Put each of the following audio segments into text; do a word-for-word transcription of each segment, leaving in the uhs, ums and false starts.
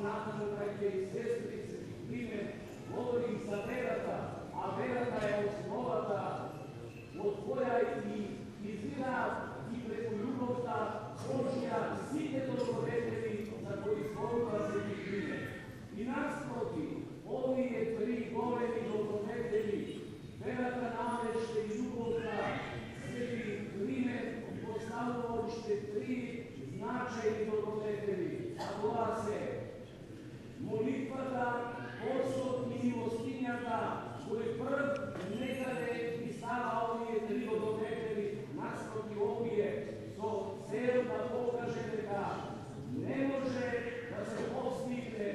понатаму, браќа и сестри, Свети Климент говори за верата, а верата е основата од која и изира и преку љубовта Божја сите добродетели за кои зборува Свети Климент. И наспроти, овие три големи добродетели, верата, надежта и љубовта, Свети Климент поставува уште три значајни добродетели, а тоа се молитвата, постот и милостињата, кој прв некаде ги става овие три добродетели наспроти овие, со цел да покаже дека не може да се постигне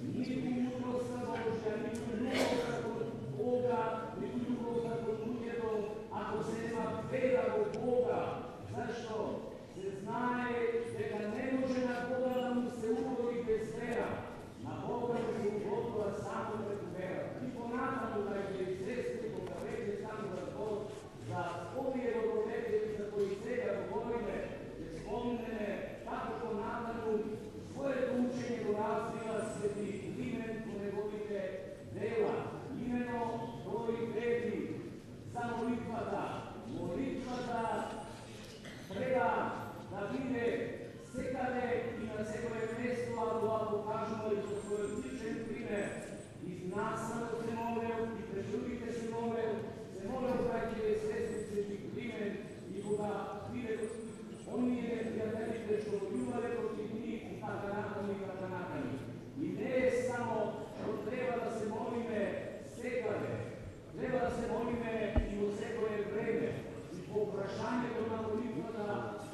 ниту мудроста Божја, ниту љубовта кон Бога, ниту љубовта кон луѓето, ако се нема вера во Бога. Зашто? Се знае дека не може на Бога да му се угоди без вера. На Бога да се угодува само преку вера. И понатаму, браќа и сестри, кога веќе станува збор за овие добродетели за кои сега говориме, ќе спомнеме како понатаму своето учење го развива Свети Климент во неговите дела. Имено тој вели за молитвата. Молитвата треба да биде секаде и на секое место, а тоа покажува и со својот личен пример. И нас само се молел, и пред другите се молел, се молел браќа и сестри Свети Климент, и кога биде оние непријателите што војувале против нив, и така натаму и така натаму. И не е само што треба да се молиме секаде, треба да се молиме и во секое време. И по прашањето на молитвата,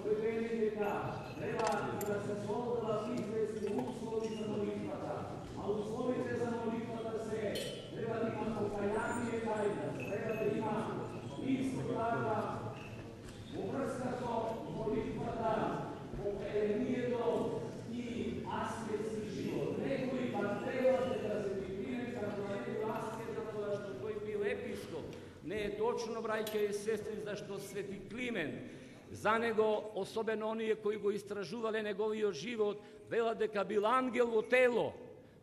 тој вели дека треба да се создадат известни услови за молитвата, а условите за молитвата се треба да има покаяние кај нас, треба да има исто така во врска со молитвата, покајанието и аскетски живот. Некои пак треба да се прикриме како да не бил аскет, затоа што тој бил епископ. Не е точно, браќа и сестри, зашто Свети Климент, за него, особено оние кои го истражувале неговиот живот, велат дека бил ангел во тело,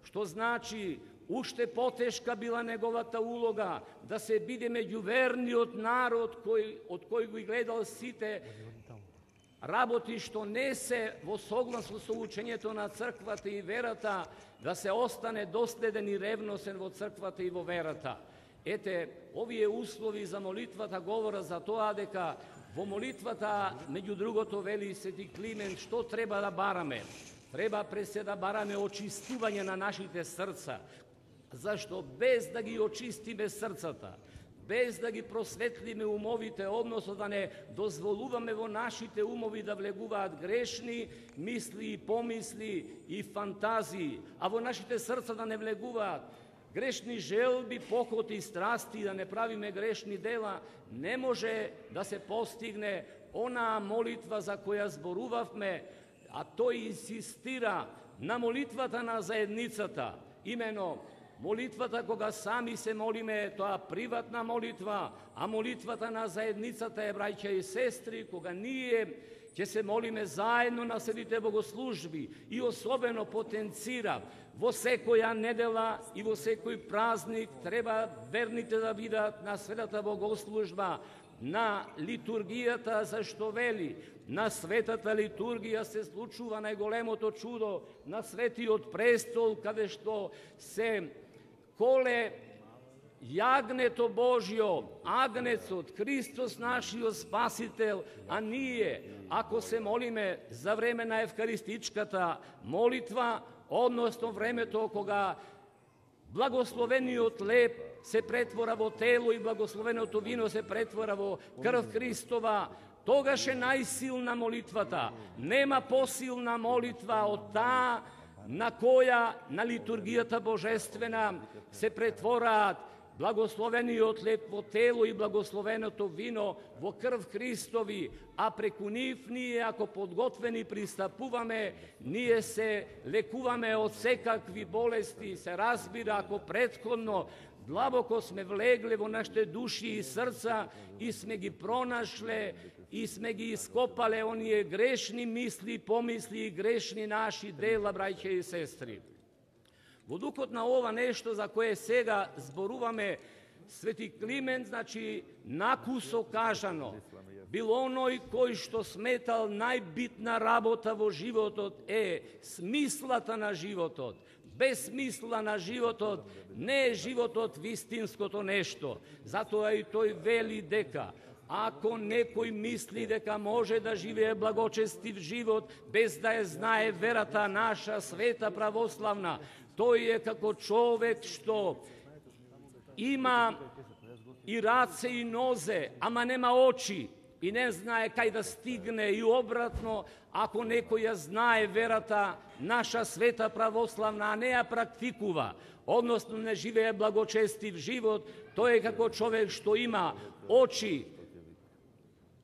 што значи уште потешка била неговата улога да се биде меѓу верниот народ кој, од кој го гледал сите работи што не се во согласно со учењето на црквата и верата, да се остане доследен и ревносен во црквата и во верата. Ете, овие услови за молитвата говорат за тоа дека во молитвата, меѓу другото, вели Свети Климент, што треба да бараме? Треба пред се да бараме очистување на нашите срца, зашто без да ги очистиме срцата, без да ги просветлиме умовите, односно да не дозволуваме во нашите умови да влегуваат грешни мисли и помисли и фантазии, а во нашите срца да не влегуваат грешни желби, похоти и страсти, да не правиме грешни дела, не може да се постигне онаа молитва за која зборувавме, а тој инсистира на молитвата на заедницата. Имено, молитвата кога сами се молиме, тоа приватна молитва, а молитвата на заедницата е, браќа и сестри, кога ние ќе се молиме заедно на светите богослужби и особено потенцира во секоја недела и во секој празник треба верните да бидат на светата богослужба, на литургијата, зашто вели, на светата литургија се случува најголемото чудо на светиот престол, каде што се коле јагнето Божјо, агнецот, Христос нашиот Спасител, а ние, ако се молиме за време на евхаристичката молитва, односно времето кога благословениот леб се претвора во тело и благословеното вино се претвора во крв Христова, тогаш е најсилна молитвата. Нема посилна молитва од таа на која на литургијата божествена се претвораат благословениот леб во тело и благословеното вино во крв Христови, а преку нив ние, ако подготвени пристапуваме, ние се лекуваме од секакви болести, се разбира ако претходно длабоко сме влегле во нашите души и срца и сме ги пронашле и сме ги ископале оние грешни мисли, помисли и грешни наши дела, браќа и сестри. Во духот на ова нешто за кое сега зборуваме, Свети Климент, значи, накусо кажано, бил оној кој што сметал најбитна работа во животот е смислата на животот. Без смисла на животот не е животот вистинското нешто. Затоа и тој вели дека ако некој мисли дека може да живее благочестив живот без да ја знае верата наша света православна, тој е како човек што има и раце и нозе, ама нема очи и не знае кај да стигне, и обратно, ако некој ја знае верата наша света православна, а не ја практикува, односно не живее благочестив живот, тој е како човек што има очи,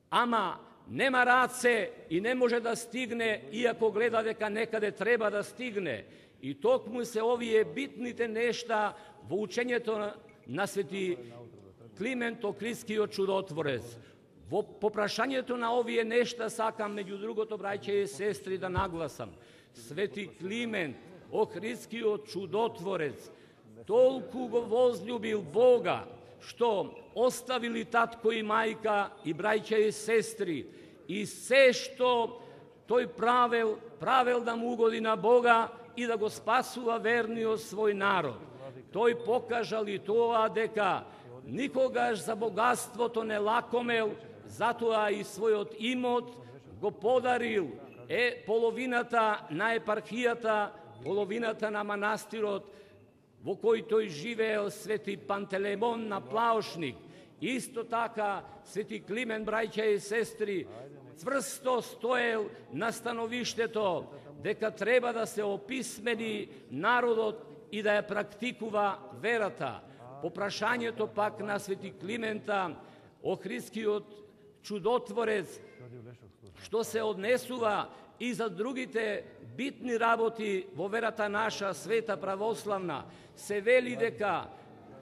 ама нема раце и не може да стигне, иако гледа дека некаде треба да стигне. И токму се овие битните нешта во учењето на Свети Климент Охридскиот чудотворец. Во попрашањето на овие нешта сакам, меѓу другото, браќа и сестри, да нагласам. Свети Климент Охридскиот чудотворец толку го возлюбил Бога, што оставили татко и мајка и браќа и сестри, и се што тој правел, правел да му угоди на Бога и да го спасува верниот свој народ. Тој покажал и тоа дека никогаш за богатството не лакомел, затоа и својот имот го подарил е половината на епархијата, половината на манастирот во кој тој живеел, Свети Пантелеймон на Плаушник. Исто така Свети Климент, браќа и сестри, цврсто стоел на становиштето дека треба да се описмени народот и да ја практикува верата. По прашањето пак на Свети Климента Охридскиот чудотворец, што се однесува и за другите битни работи во верата наша света православна, се вели дека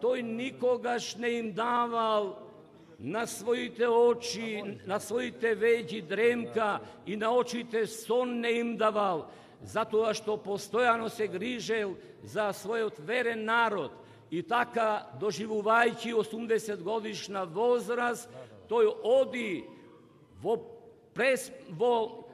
тој никогаш не им давал на своите очи, на своите веќе дремка и на очите сон не им давал, затоа што постојано се грижел за својот верен народ. И така, доживувајќи осумдесет годишна возраст, тој оди во, прес, во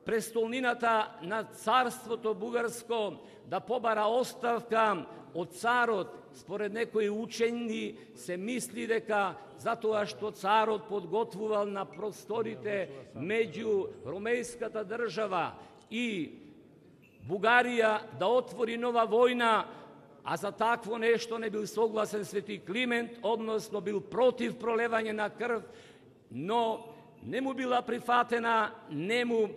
престолнината на царството бугарско да побара оставка од царот. Според некои учени се мисли дека затоа што царот подготвувал на просторите меѓу ромејската држава и Бугарија да отвори нова војна, а за такво нешто не бил согласен Свети Климент, односно бил против пролевање на крв, но не му била прифатена нему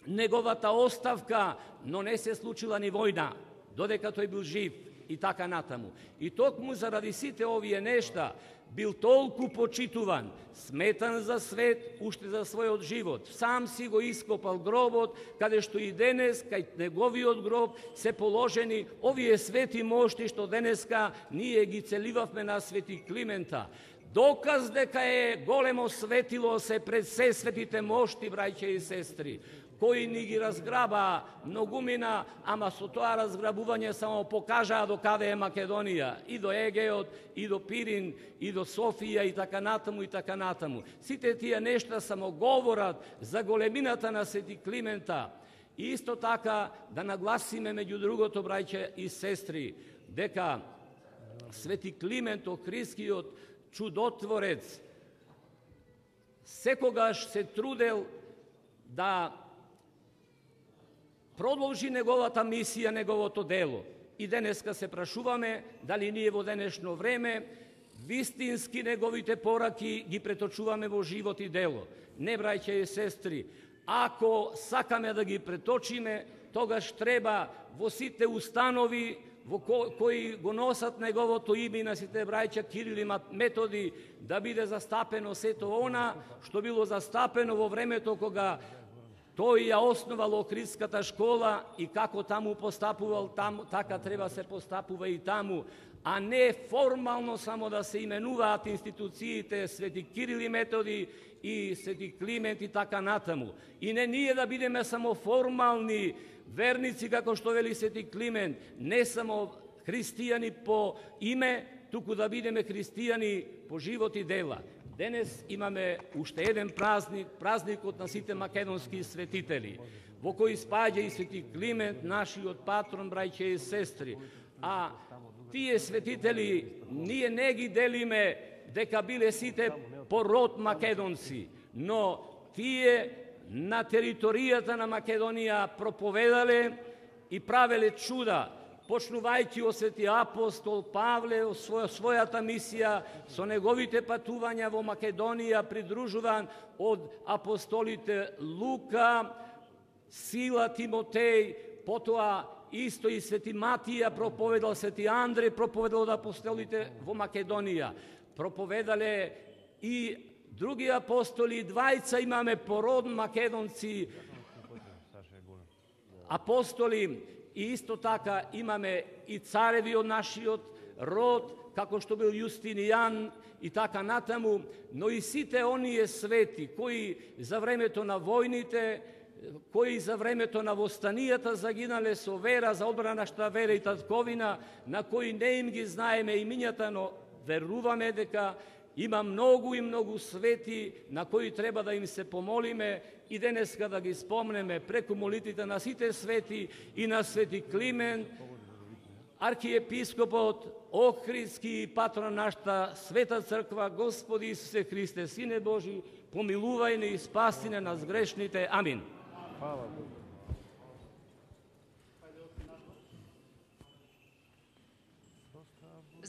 неговата оставка, но не се случила ни војна, додека тој бил жив и така натаму. И токму заради сите овие нешта бил толку почитуван, сметан за свет, уште за својот живот. Сам си го ископал гробот, каде што и денес, кај неговиот гроб, се положени овие свети мошти што денеска ние ги целивавме на Свети Климента. Доказ дека е големо светило се пред се светите мошти, браќа и сестри, кои ни ги разграба многумина, ама со тоа разграбување само покажаа до каде е Македонија, и до Егеот, и до Пирин, и до Софија, и така натаму, и така натаму. Сите тие нешта само говорат за големината на Свети Климента. И исто така да нагласиме, меѓу другото, браќа и сестри, дека Свети Климент Охридскиот чудотворец секогаш се трудел да продолжи неговата мисија, неговото дело. И денеска се прашуваме дали ние во денешно време вистински неговите пораки ги преточуваме во живот и дело. Не, браќа и сестри, ако сакаме да ги преточиме, тогаш треба во сите установи во ко, кои го носат неговото име на сите браќа Кирил и Методи, да биде застапено сето она што било застапено во времето кога тој ја основал Охридската школа и како таму постапувал, таму, така треба се постапува и таму, а не формално само да се именуваат институциите Свети Кирил и Методи и Свети Климент и така натаму. И не ние да бидеме само формални верници, како што вели Свети Климент, не само христијани по име, туку да бидеме христијани по живот и дела. Денес имаме уште еден празник, празникот на сите македонски светители, во кој спаѓа и Свети Климент, нашиот патрон, браќа и сестри. А тие светители ние не ги делиме дека биле сите по род македонци, но тие на територијата на Македонија проповедале и правеле чуда, почнувајќи од Свети апостол Павле, своја, својата мисија, со неговите патувања во Македонија, придружуван од апостолите Лука, Сила, Тимотеј, потоа исто и Свети Матија проповедал, Свети Андреј проповедал од апостолите во Македонија. Проповедале и други апостоли, двајца имаме пород македонци, апостоли, и исто така имаме и цареви од нашиот род, како што бил Јустинијан и така натаму, но и сите оние свети кои за времето на војните, кои за времето на востанијата загинале со вера за одбрана нашата вера и татковина, на кои не им ги знаеме имињата, но веруваме дека има многу и многу свети на кои треба да им се помолиме и денеска да ги спомнеме преку молитвите на сите свети и на Свети Климент, архиепископот Охридски и патрон нашата Света Црква. Господи Исусе Христе, Сине Божи, помилувај не и спаси не нас грешните. Амин.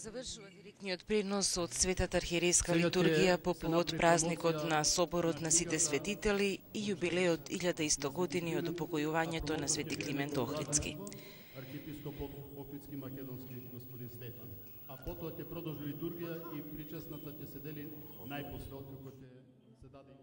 Завршува директниот пренос од Светата архиерейска литургија по повод празникот на Соборот на сите светители и јубилеот илјада и сто години од упокојувањето на Свети Климент Охридски. Архиепископот Охридски македонски господин Стефан. А потоа ќе продолжи литургија и причесната ќе се дели најпосле откако ќе се даде